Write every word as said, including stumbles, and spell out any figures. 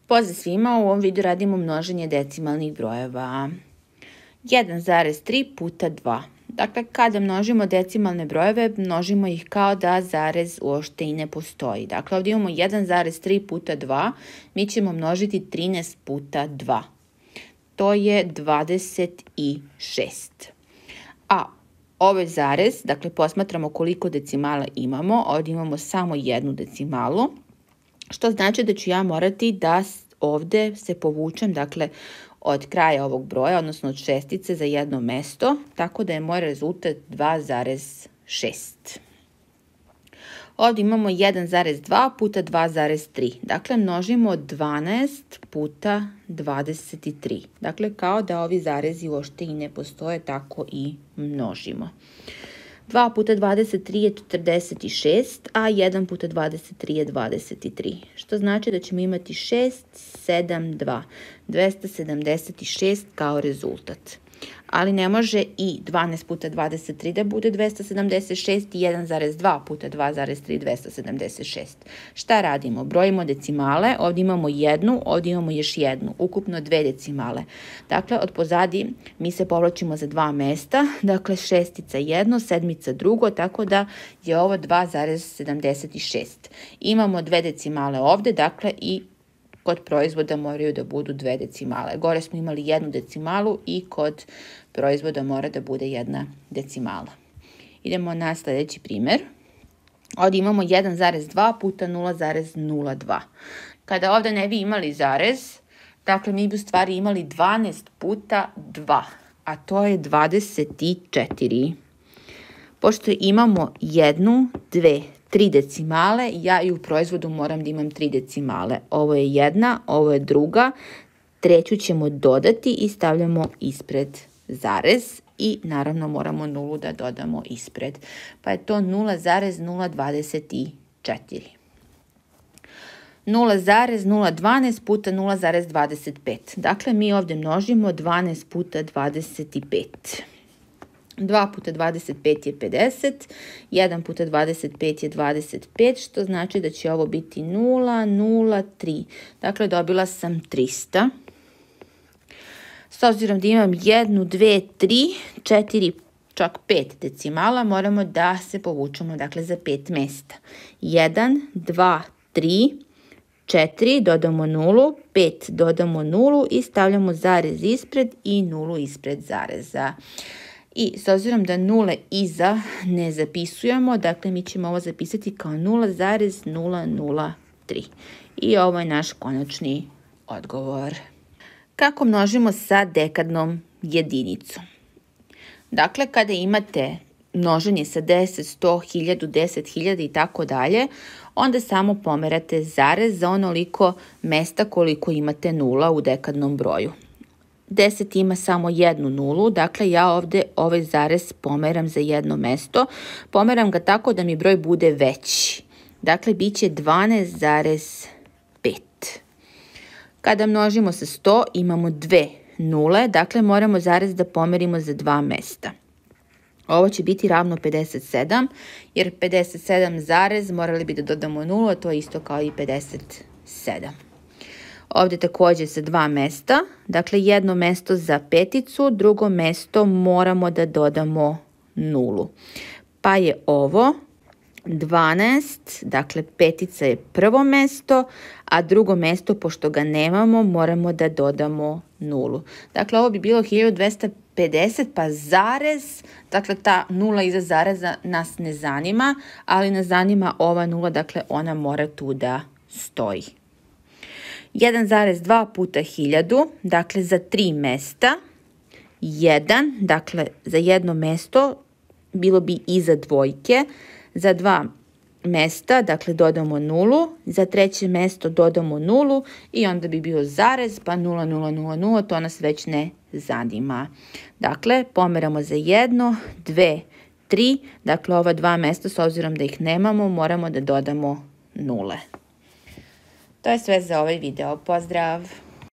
Pozdrav svima, u ovom videu radimo množenje decimalnih brojeva. jedan zarez tri puta dva. Dakle, kada množimo decimalne brojeve, množimo ih kao da zarez uopšte i ne postoji. Dakle, ovdje imamo jedan zarez tri puta dva, mi ćemo množiti trinaest puta dva. To je dvadeset šest. A ovaj zarez, dakle, posmatramo koliko decimala imamo, ovdje imamo samo jednu decimalu, što znači da ću ja morati da ovdje se povučem, dakle, od kraja ovog broja, odnosno od šestice za jedno mesto, tako da je moj rezultat dva zarez šest. Ovdje imamo jedan zarez dva puta dva zarez tri. Dakle, množimo dvanaest puta dvadeset tri. Dakle, kao da ovi zarezi uopšte i ne postoje, tako i množimo. dva puta dvadeset tri je četrdeset šest, a jedan puta dvadeset tri je dvadeset tri. Što znači da ćemo imati šest, sedam, dva. dvesta sedamdeset šest kao rezultat. Ali ne može i dvanaest puta dvadeset tri da bude dvesta sedamdeset šest i jedan zarez dva puta dva zarez tri dvesta sedamdeset šest. Šta radimo? Brojimo decimale, ovdje imamo jednu, ovdje imamo još jednu, ukupno dve decimale. Dakle, od pozadi mi se povlačimo za dva mesta, dakle šestica jedno, sedmica drugo, tako da je ovo dva zarez sedamdeset šest. Imamo dve decimale ovdje, dakle i kod proizvoda moraju da budu dve decimale. Gore smo imali jednu decimalu i kod proizvoda mora da bude jedna decimala. Idemo na sljedeći primjer. Ovdje imamo jedan zarez dva puta nula zarez nula dva. Kada ovdje ne bi imali zarez, dakle mi bi u stvari imali dvanaest puta dva, a to je dvadeset četiri. Pošto imamo jednu, dve, tri decimale, ja i u proizvodu moram da imam tri decimale. Ovo je jedna, ovo je druga, treću ćemo dodati i stavljamo ispred zarez i naravno moramo nulu da dodamo ispred. Pa je to nula zarez nula dvadeset četiri. nula zarez nula dvanaest puta nula zarez dvadeset pet. Dakle, mi ovdje množimo dvanaest puta dvadeset pet. dva puta dvadeset pet je pedeset, jedan puta dvadeset pet je dvadeset pet, što znači da će ovo biti nula, nula, tri. Dakle, dobila sam trista. S obzirom da imam jednu, dve, tri, četiri, čak pet decimala, moramo da se povučemo, dakle, za pet mesta. jedan, dva, tri, četiri, dodamo nulu, pet dodamo nulu i stavljamo zarez ispred i nulu ispred zareza. I s obzirom da nule iza ne zapisujemo, dakle mi ćemo ovo zapisati kao nula zarez nula nula tri. I ovo je naš konačni odgovor. Kako množimo sa dekadnom jedinicom? Dakle, kada imate množenje sa deset, sto, hiljadu, deset hiljada i tako dalje, onda samo pomerate zarez za onoliko mesta koliko imate nula u dekadnom broju. deset ima samo jednu nulu, dakle ja ovdje ovaj zarez pomeram za jedno mesto. Pomeram ga tako da mi broj bude veći. Dakle, bit će dvanaest zarez pet. Kada množimo sa sto, imamo dve nule, dakle moramo zarez da pomerimo za dva mesta. Ovo će biti ravno pedeset sedam, jer pedeset sedam zarez morali bi da dodamo nulu, a to je isto kao i pedeset sedam. Ovdje također sa dva mesta, dakle jedno mesto za peticu, drugo mesto moramo da dodamo nulu. Pa je ovo dvanaest, dakle petica je prvo mesto, a drugo mesto, pošto ga nemamo, moramo da dodamo nulu. Dakle, ovo bi bilo hiljadu dvesta pedeset, pa zarez, dakle ta nula iza zareza nas ne zanima, ali nas zanima ova nula, dakle ona mora tu da stoji. jedan zarez dva puta hiljadu, dakle za tri mesta, jedan, dakle za jedno mesto, bilo bi iza dvojke, za dva mesta, dakle dodamo nulu, za treće mesto dodamo nulu i onda bi bio zarez, pa nula, nula, nula, nula, to nas već ne zanima. Dakle, pomeramo za jedno, dve, tri, dakle ova dva mesta, s obzirom da ih nemamo, moramo da dodamo nule. To je sve za ovaj video. Pozdrav!